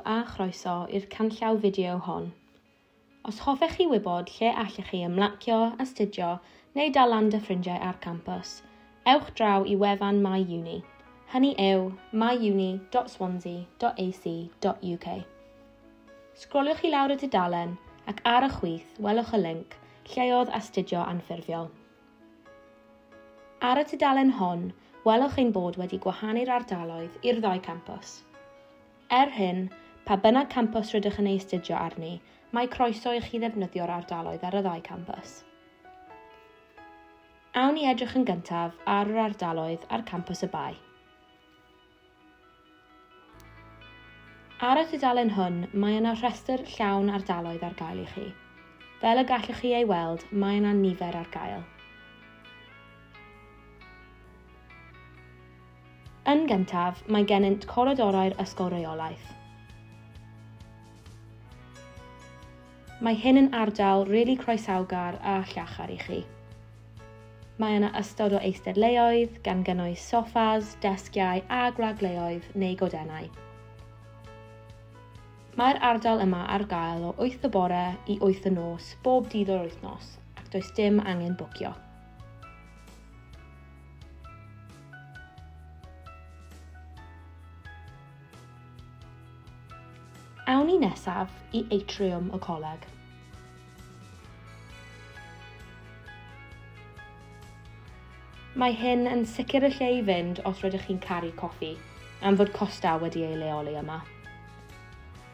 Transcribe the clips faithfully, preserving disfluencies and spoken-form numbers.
A chroeso i'r canllaw fideo hon. Os hoffech chi wybod lle allech chi ymlacio, astudio neu dal lan 'da ffrindiau ar campws, ewch draw i wefan MyUni. Hynny yw myuni dot swansea dot A C dot U K. Sgroliwch i lawr y dudalen ac ar y chwith welwch y linc Lleoedd Astudio Anffurfiol. Ar y tudalen hon, welwch ein bod wedi gwahanu'r ardaloedd i'r ddau campws. Er hyn, pa bynnag campws rydych yn ei astudio arni, mae croeso i chi ddefnyddio'r ardaloedd ar y ddau campws. Awn ni edrych yn gyntaf ar yr ardaloedd ar campws y Bae. Ar y tudalen hwn, mae yna rhestr llawn ardaloedd ar gael i chi. Fel y gallwch chi ei weld, mae yna nifer ar gael. Yn gyntaf, mae gennynt coridorau'r Ysgol Reolaeth. Mae hyn yn ardal rili really croesawgar a llachar i chi. Mae yna ystod o eisteddleoedd, gan gynnwys soffas, desgiau a gwragleoedd neu godennau. Mae'r ardal yma ar gael o wyth y bore i wyth y nos bob dydd o'r wythnos, ac does dim angen bwcio. Awn ni nesaf i atriwm y coleg. Mae hyn yn sicr y lle i fynd os rydych chi'n caru coffi, am fod Costa wedi ei leoli yma.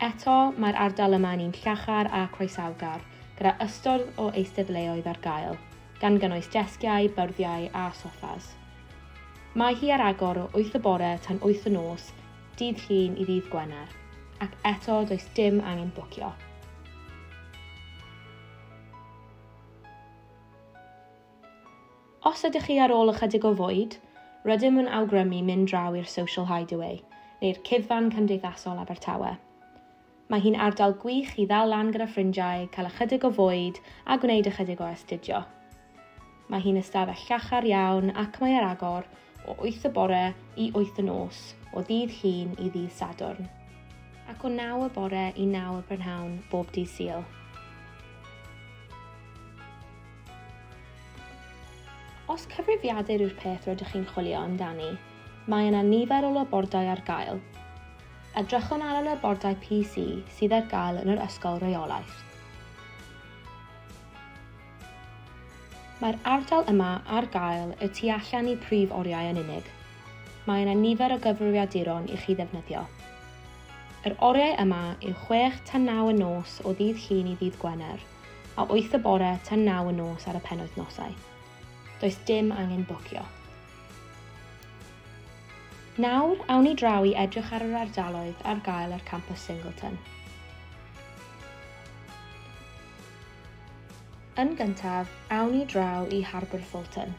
Eto, mae'r ardal yma yn un llachar a croesawgar, gyda ystod o eisteddleoedd ar gael, gan gynnwys desgiau, byrddiau a soffas. Mae hi ar agor o wyth y bore tan wyth y nos, dydd Llun i ddydd Gwener, ac eto does dim angen bwcio. Os ydych chi ar ôl ychydig o fwyd, rydym yn awgrymu mynd draw i'r Social Hideaway, neu'r Cuddfan Cymdeithasol Abertawe. Mae hi'n ardal gwych i ddal lan gyda ffrindiau, cael ychydig o fwyd a gwneud ychydig o astudio. Mae hi'n ystafell llachar iawn ac mae ar agor o wyth y bore i wyth y nos, o ddydd Llun i ddydd Sadwrn, ac o naw y bore i naw y prynhawn bob dydd Sul. Os cyfrifiadur yw'r peth rydych chi'n chwilio amdani, mae yna nifer o labordai ar gael. Edrychwn ar y labordai P C sydd ar gael yn yr Ysgol Reolaeth. Mae'r ardal yma ar gael y tu allan i prif oriau yn unig. Mae yna nifer o gyfrifiaduron i chi ddefnyddio. Yr oriau yma yw chwech tan naw y nos o ddydd Llun i ddydd Gwener, a wyth y bore tan naw y nos ar y penwythnosau. Does dim angen bwcio. Nawr, awn ni draw i edrych ar yr ardaloedd ar gael ar campws Singleton. Yn gyntaf, awn ni draw i Harbwr Fulton,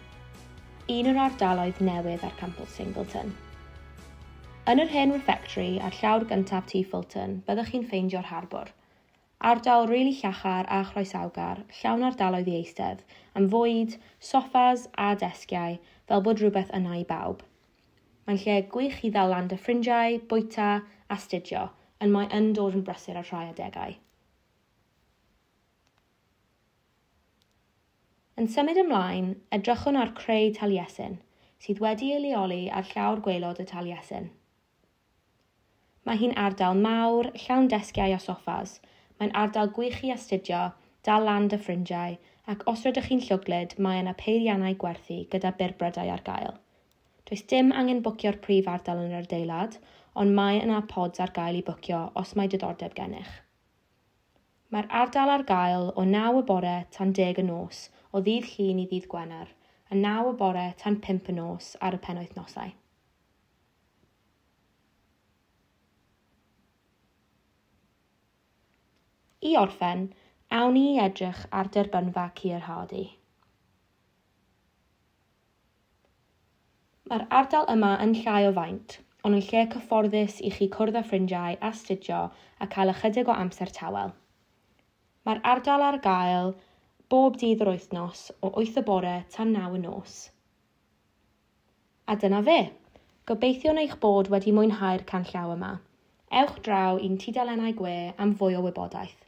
un o'r ardaloedd newydd ar campws Singleton. Yn yr hen refectory ar llawr gyntaf Tŷ Fulton, byddwch chi'n ffeindio'r harbwr. Ardal rili really llachar a chroesawgar, llawn ardaloedd i eistedd, am fwyd, soffas a desgiau, fel bod rhywbeth yna i bawb. Mae'n lle gwych i ddal lan 'da ffrindiau, bwyta, astudio, ond mae yn dod yn brysur ar rhai adegau. Yn symud ymlaen, edrychwn ar Creu Taliesin, sydd wedi ei leoli ar llawr gwaelod y Taliesin. Mae hi'n ardal mawr, llawn desgiau a soffas. Mae'n ardal gwych i astudio, dal lan 'da ffrindiau, ac os rydych chi'n llwglyd, mae yna peiriannau gwerthu gyda byrbrydau ar gael. Does dim angen bwcio'r prif ardal yn yr adeilad, ond mae yna pods ar gael i bwcio os mae diddordeb gennych. Mae'r ardal ar gael o naw y bore tan deg y nos, o ddydd Llun i ddydd Gwener, a naw y bore tan pump y nos ar y penwythnosau. I orffen, awn ni i edrych ar derbynfa Keir Hardie. Mae'r ardal yma yn llai o faint, ond yn lle cyfforddus i chi cwrdd â ffrindiau, astudio a cael ychydig o amser tawel. Mae'r ardal ar gael bob dydd o'r wythnos o wyth y bore tan naw y nos. A dyna fe. Gobeithiwn eich bod wedi mwynhau'r canllaw yma. Ewch draw i'n tudalennau gwe am fwy o wybodaeth.